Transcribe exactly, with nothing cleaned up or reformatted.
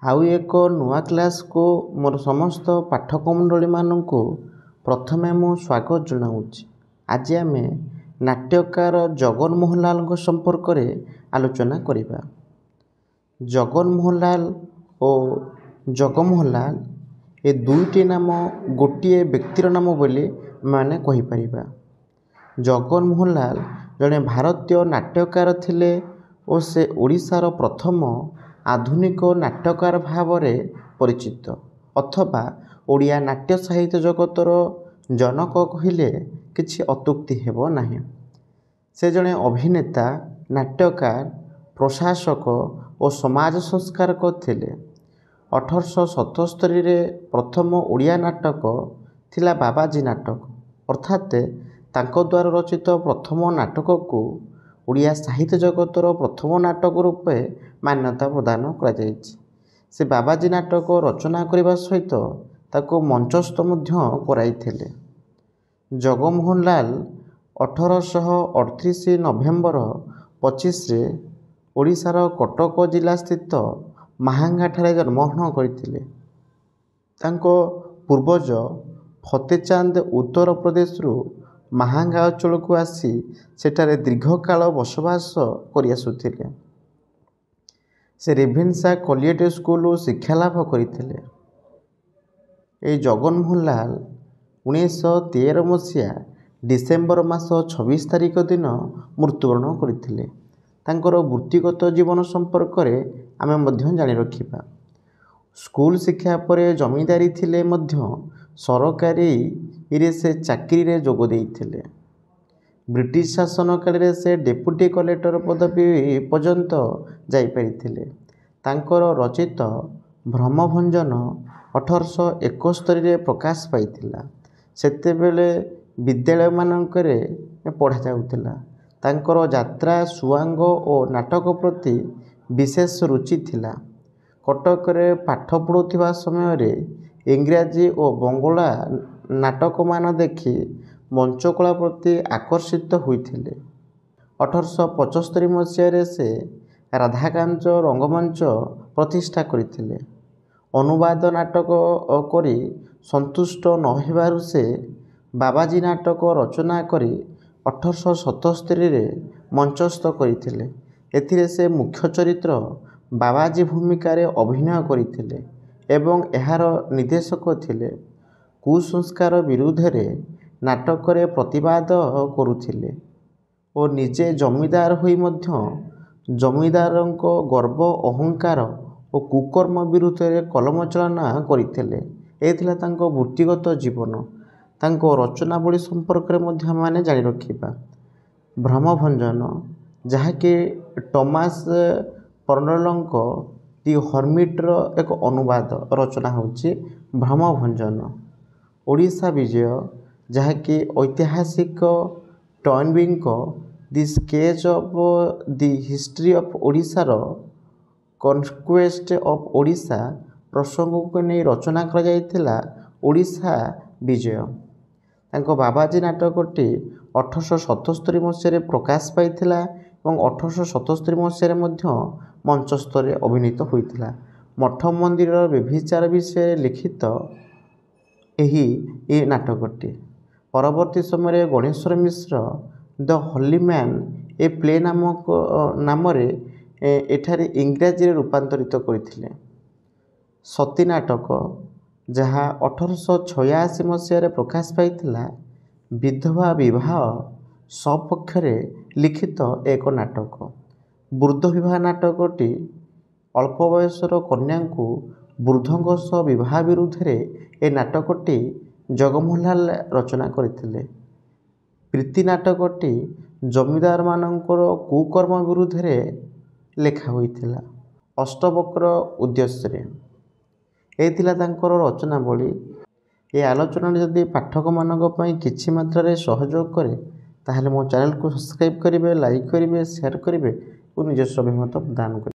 ଆଉ ଏକ ନୂଆ କ୍ଲାସ୍କୁ ମୋର ସମସ୍ତ ପାଠକ ମଣ୍ଡଳୀମାନଙ୍କୁ ପ୍ରଥମେ ମୁଁ ସ୍ୱାଗତ ଜଣାଉଛି। ଆଜି ଆମେ ନାଟ୍ୟକାର ଜଗନମୋହନ ଲାଲଙ୍କ ସମ୍ପର୍କରେ ଆଲୋଚନା କରିବା। ଜଗନମୋହନ ଲାଲ ଓ ଜଗମୋହନ ଲାଲ ଏ ଦୁଇଟି ନାମ ଗୋଟିଏ ବ୍ୟକ୍ତିର ନାମ ବୋଲି ଆମେମାନେ କହିପାରିବା। ଜଗନମୋହନ ଲାଲ ଜଣେ ଭାରତୀୟ ନାଟ୍ୟକାର ଥିଲେ ଓ ସେ ଓଡ଼ିଶାର ପ୍ରଥମ ଆଧୁନିକ ନାଟ୍ୟକାର ଭାବରେ ପରିଚିତ ଅଥବା ଓଡ଼ିଆ ନାଟ୍ୟ ସାହିତ୍ୟ ଜଗତର ଜନକ କହିଲେ କିଛି ଅତ୍ୟୁକ୍ତି ହେବ ନାହିଁ। ସେ ଜଣେ ଅଭିନେତା, ନାଟ୍ୟକାର, ପ୍ରଶାସକ ଓ ସମାଜ ସଂସ୍କାରକ ଥିଲେ। ଅଠରଶହ ସତସ୍ତରୀରେ ପ୍ରଥମ ଓଡ଼ିଆ ନାଟକ ଥିଲା ବାବାଜୀ ନାଟକ, ଅର୍ଥାତ୍ ତାଙ୍କ ଦ୍ୱାରା ରଚିତ ପ୍ରଥମ ନାଟକକୁ ଓଡ଼ିଆ ସାହିତ୍ୟ ଜଗତର ପ୍ରଥମ ନାଟକ ରୂପେ ମାନ୍ୟତା ପ୍ରଦାନ କରାଯାଇଛି। ସେ ବାବାଜୀ ନାଟକ ରଚନା କରିବା ସହିତ ତାକୁ ମଞ୍ଚସ୍ଥ ମଧ୍ୟ କରାଇଥିଲେ। ଜଗମୋହନ ଲାଲ ଅଠରଶହ ଅଠତିରିଶ ନଭେମ୍ବର ପଚିଶରେ ଓଡ଼ିଶାର କଟକ ଜିଲ୍ଲାସ୍ଥିତ ମାହାଙ୍ଗାଠାରେ ଜନ୍ମଗ୍ରହଣ କରିଥିଲେ। ତାଙ୍କ ପୂର୍ବଜ ଫତେଚାନ୍ଦ ଉତ୍ତରପ୍ରଦେଶରୁ ମାହାଙ୍ଗା ଅଞ୍ଚଳକୁ ଆସି ସେଠାରେ ଦୀର୍ଘକାଳ ବସବାସ କରିଆସୁଥିଲେ। ସେ ରେଭେନ୍ସା କଲିଏଟ୍ ସ୍କୁଲରୁ ଶିକ୍ଷାଲାଭ କରିଥିଲେ। ଏହି ଜଗନମୋହନ ଲାଲ ଉଣେଇଶହ ତେର ମସିହା ଡିସେମ୍ବର ମାସ ଛବିଶ ତାରିଖ ଦିନ ମୃତ୍ୟୁବରଣ କରିଥିଲେ। ତାଙ୍କର ବୃତ୍ତିଗତ ଜୀବନ ସମ୍ପର୍କରେ ଆମେ ମଧ୍ୟ ଜାଣି ରଖିବା। ସ୍କୁଲ ଶିକ୍ଷା ପରେ ଜମିଦାରୀ ଥିଲେ ମଧ୍ୟ ସରକାରୀରେ ସେ ଚାକିରିରେ ଯୋଗ ଦେଇଥିଲେ। ବ୍ରିଟିଶ ଶାସନ କାଳରେ ସେ ଡେପୁଟି କଲେକ୍ଟର ପଦବୀ ପର୍ଯ୍ୟନ୍ତ ଯାଇପାରିଥିଲେ। ତାଙ୍କର ରଚିତ ଭ୍ରମଭଞ୍ଜନ ଅଠରଶହ ଏକସ୍ତରୀରେ ପ୍ରକାଶ ପାଇଥିଲା। ସେତେବେଳେ ବିଦ୍ୟାଳୟମାନଙ୍କରେ ପଢ଼ାଯାଉଥିଲା। ତାଙ୍କର ଯାତ୍ରା, ସୁଆଙ୍ଗ ଓ ନାଟକ ପ୍ରତି ବିଶେଷ ରୁଚି ଥିଲା। କଟକରେ ପାଠ ପଢ଼ୁଥିବା ସମୟରେ ଇଂରାଜୀ ଓ ବଙ୍ଗଳା ନାଟକମାନ ଦେଖି ମଞ୍ଚକଳା ପ୍ରତି ଆକର୍ଷିତ ହୋଇଥିଲେ। ଅଠରଶହ ପଞ୍ଚସ୍ତରୀ ମସିହାରେ ସେ ରାଧାକାନ୍ତ ରଙ୍ଗମଞ୍ଚ ପ୍ରତିଷ୍ଠା କରିଥିଲେ। ଅନୁବାଦ ନାଟକ କରି ସନ୍ତୁଷ୍ଟ ନ ହେବାରୁ ସେ ବାବାଜୀ ନାଟକ ରଚନା କରି ଅଠରଶହ ସତସ୍ତରୀରେ ମଞ୍ଚସ୍ଥ କରିଥିଲେ। ଏଥିରେ ସେ ମୁଖ୍ୟ ଚରିତ୍ର ବାବାଜୀ ଭୂମିକାରେ ଅଭିନୟ କରିଥିଲେ ଏବଂ ଏହାର ନିର୍ଦ୍ଦେଶକ ଥିଲେ। କୁସଂସ୍କାର ବିରୁଦ୍ଧରେ ନାଟକରେ ପ୍ରତିବାଦ କରୁଥିଲେ ଓ ନିଜେ ଜମିଦାର ହୋଇ ମଧ୍ୟ ଜମିଦାରଙ୍କ ଗର୍ବ, ଅହଙ୍କାର ଓ କୁକର୍ମ ବିରୁଦ୍ଧରେ କଲମ ଚାଳନା କରିଥିଲେ। ଏ ଥିଲା ତାଙ୍କ ବୃତ୍ତିଗତ ଜୀବନ। ତାଙ୍କ ରଚନାବଳୀ ସମ୍ପର୍କରେ ମଧ୍ୟ ଆମେମାନେ ଜାଣି ରଖିବା। ଭ୍ରମଭଞ୍ଜନ, ଯାହାକି ଟମାସ୍ ପର୍ନେଲଙ୍କ ଦି ହର୍ମିଟ୍ର ଏକ ଅନୁବାଦ ରଚନା ହେଉଛି ଭ୍ରମଭଞ୍ଜନ। ଓଡ଼ିଶା ବିଜୟ, ଯାହାକି ଐତିହାସିକ ଟଏନବିଙ୍କ the sketch of the history of ଓଡ଼ିଶାର କନକ୍ୱେଷ୍ଟ ଅଫ୍ ଓଡ଼ିଶା ପ୍ରସଙ୍ଗକୁ ନେଇ ରଚନା କରାଯାଇଥିଲା ଓଡ଼ିଶା ବିଜୟ। ତାଙ୍କ ବାବାଜୀ ନାଟକଟି ଅଠରଶହ ସତସ୍ତରୀ ମସିହାରେ ପ୍ରକାଶ ପାଇଥିଲା ଏବଂ ଅଠରଶହ ସତସ୍ତରୀ ମସିହାରେ ମଧ୍ୟ ମଞ୍ଚସ୍ଥରେ ଅଭିନୀତ ହୋଇଥିଲା। ମଠ ମନ୍ଦିରର ବ୍ୟଭିଚାର ବିଷୟରେ ଲିଖିତ ଏହି ନାଟକଟି। ପରବର୍ତ୍ତୀ ସମୟରେ Ganeshwar Mishra the holy man a play ନାମକ ନାମରେ ଏଠାରେ ଇଂରାଜୀରେ ରୂପାନ୍ତରିତ କରିଥିଲେ। ସତୀ ନାଟକ, ଯାହା ଅଠରଶହ ଛୟାଅଶୀ ମସିହାରେ ପ୍ରକାଶ ପାଇଥିଲା, ବିଧବା ବିବାହ ସପକ୍ଷରେ ଲିଖିତ ଏକ ନାଟକ। ବୃଦ୍ଧ ବିବାହ ନାଟକଟି ଅଳ୍ପ ବୟସର କନ୍ୟାଙ୍କୁ ବୃଦ୍ଧଙ୍କ ସହ ବିବାହ ବିରୁଦ୍ଧରେ ଏ ନାଟକଟି ଜଗମୋହନ ଲାଲ ରଚନା କରିଥିଲେ। ପ୍ରୀତି ନାଟକଟି ଜମିଦାରମାନଙ୍କର କୁକର୍ମ ବିରୁଦ୍ଧରେ ଲେଖା ହୋଇଥିଲା ଅଷ୍ଟବକ୍ର ଉଦ୍ଦେଶ୍ୟରେ। ଏ ଥିଲା ତାଙ୍କର ରଚନାବଳୀ। ଏ ଆଲୋଚନାଟି ଯଦି ପାଠକମାନଙ୍କ ପାଇଁ କିଛି ମାତ୍ରାରେ ସହଯୋଗ କରେ, ତାହେଲେ ମୋ ଚ୍ୟାନେଲକୁ ସବସ୍କ୍ରାଇବ୍ କରିବେ, ଲାଇକ୍ କରିବେ, ସେୟାର କରିବେ ଓ ନିଜସ୍ୱ ଅଭିମତ ପ୍ରଦାନ କରିବେ।